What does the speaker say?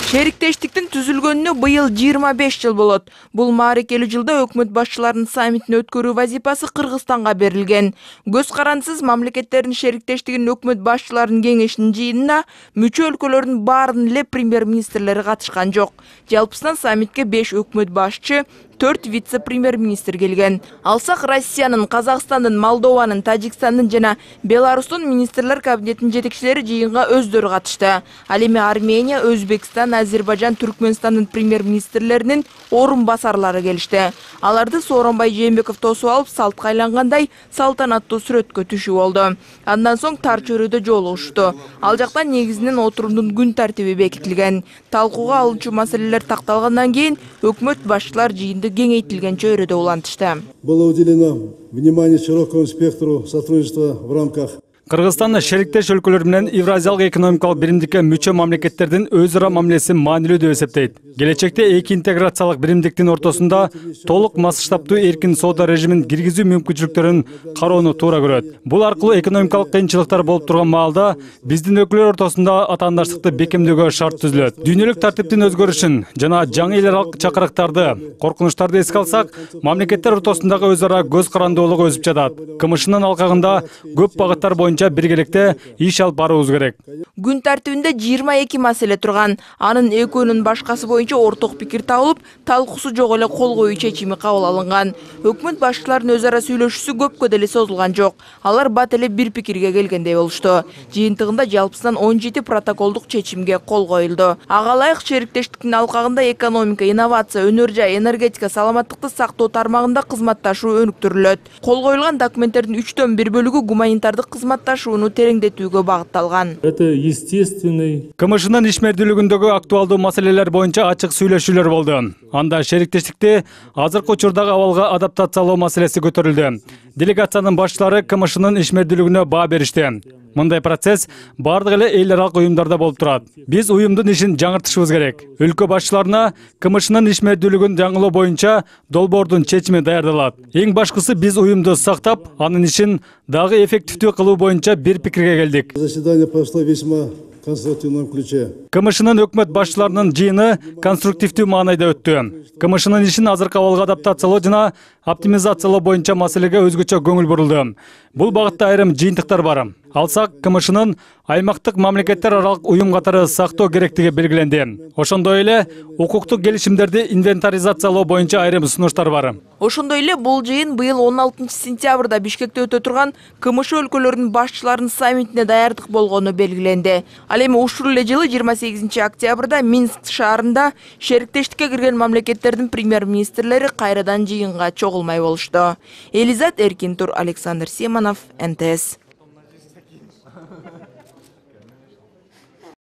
Шериктештиктин түзүлгөнүнө быйыл 25 жыл болот. Бул маарекелүү жылда өкмөт башчыларынын саммитин өткөрүү вазипасы Кыргызстанга берилген. Көз карандысыз мамлекеттердин шериктештигинин өкмөт башчыларынын кеңешинин жыйынына мүчө өлкөлөрдүн баарынын эле премьер-министрлери катышкан жок. Жалпысынан саммитке 5 өкмөт башчы, 4 вице-премьер-министр келген. Алсак Россиянын, Казакстандын, Молдованын, Тажикстандын жана Беларустун министрлер кабинетинин жетекчилери жыйынга өздөрү катышты. Ал эми Армения, Өзбекстан, Азербайжан, Түркмөнстандын премьер-министрлеринин орун басарлары келишти. Аларды Сооронбай Жээнбеков тосуп алып, салтка айлангандай салтанаттуу сүрөткө түшүп болду. Андан соң тар чөйрөдө жолугушту. Ал жакта негизинен отурумдун күн тартиби бекитилген. Талкууга алынчу маселелер такталгандан кийин өкмөт башчылар жыйынды кеңейтилген чөйрөдө улантышты. Было уделено внимание широкому спектру сотрудничества в рамках Кыргызстан шериктеш өлкөлөр менен Евразиялык экономикалык биримдикке мүчө мамлекеттердин өз ара мамилеси маанилүү деп эсептейт. Келечекте эки интеграциялык биримдиктин ортосунда толук масштабтуу эркин соода режимин киргизүү мүмкүнчүлүктөрүн кароону туура көрөт. Бул аркылуу экономикалык кыйынчылыктар болуп турган маалда биздин өлкөлөр ортосунда атаандаштыкты бекемдөөгө шарт түзүлөт. Дүйнөлүк тартиптин өзгөрүшүн жана жаңы эл аралык чакырыктарды, коркунучтарды эске алсак, мамлекеттер ортосундагы өз ара көз карандуулук өсүп жатат. КМШнын алкагында көп багыттар боюнча биргеликте иш алып баруубуз керек. Күн тартибинде 22 маселе турган. Анын экөөнүн башкасы боюнча орток пикир табылып, талкуусу жок эле кол коюу чечими кабыл алынган. Өкмөт башчыларынын өз ара сүйлөшүүсү көпкө деле созулган жок. Алар бат эле бир пикирге келгендей болушту. Жыйынтыгында жалпысынан 17 протоколдук чечимге кол коюлду. Ага ылайык шериктештиктин алкагында экономика, инновация, өнөр жай, энергетика, саламаттыкты сактоо тармагында кызматташуу өнүктүрүлөт. Кол коюлган документтердин 3/1 бөлүгү гуманитардык кызматташууну тереңдетүүгө багытталган. Это естественный. КМШнын ишмердүүлүгүндөгү актуалдуу маселелер боюнча ачык сүйлөшүүлөр болду. Анда шериктештикти азыркы учурдагы абалга адаптациялоо маселеси көтөрүлдү. Делегациянын башчылары КМШнын ишмердүүлүгүнө баа беришти. Мындай процесс бардык эле эл аралык уюмдарда болуп турат. Биз уюмдун ишин жаңыртышыбыз керек. Өлкө башчыларына КМШнын ишмердүүлүгүн жаңылоо боюнча долбоордун чечими даярдалат. Эң башкысы биз уюмду сактап, анын ишин дагы эффективдүү кылуу боюнча бир пикирге келдик. Заседание прошло весьма конструктивном ключе. КМШнын өкмөт башчыларынын жыйыны конструктивдүү маанайда өттү. КМШнын ишин азыркы абалга адаптациялоо жана оптимизациялоо боюнча маселеге өзгөчө көңүл бурулду. Бул багытта айрым жыйынтыктар бар. Алсак КМШнын аймактык мамлекеттер аралык уюм катары сактоо керектиги белгиленди. Ошондой эле укуктук келишимдерди инвентаризациялоо боюнча айрым сунуштар бар. Ошондой эле бул жыйын быйыл 16 сентябрда Бишкекте өтө турган КМШ өлкөлөрүнүн башчыларынын саммитине даярдык болгону белгиленди. Ал эми ушул эле жылы 28 октябрда Минск шаарында шериктештикке кирген мамлекеттердин премьер-министрлери кайрадан жыйынга чогулмай болушту. Элизат Эркинтур, Александр Симонов, НТС.